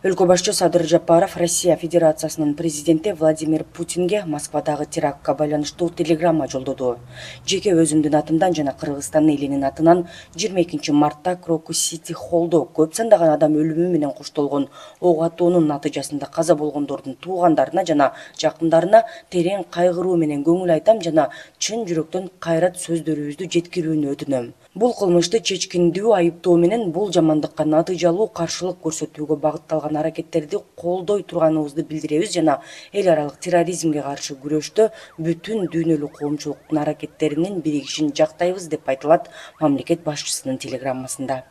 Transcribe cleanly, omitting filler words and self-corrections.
Өлкө башчысы Садыр Жапаров Россия Федерациясынын президенти Владимир Путинге Москвадагы терактка байланыштуу телеграмма жолдоду. Жеке өзүмдүн атымдан жана Кыргызстан элинин атынан 22 мартта Крокус Сити Холлдо көп сандаган адам өлүмү менен коштолгон ок атуунун натыйжасында каза болгондордун туугандарына жана жакындарына терең кайгыруу менен көңүл айтам жана чын жүрөктөн кайрат сөздөрүбүздү жеткирүүнү өтүнөм. Бул кылмышты чечкиндүү айыптоо менен бул жамандыкка натыйжалуу каршылык көрсөтүүгө багытталган аракеттерди колдой турганыбызды билдиребиз жана эл аралык терроризмге каршы күрөштө бүтүн дүйнөлүк коомчулуктун аракеттеринин биригишин жактайбыз деп айтылат мамлекет башчысынын телеграммасында.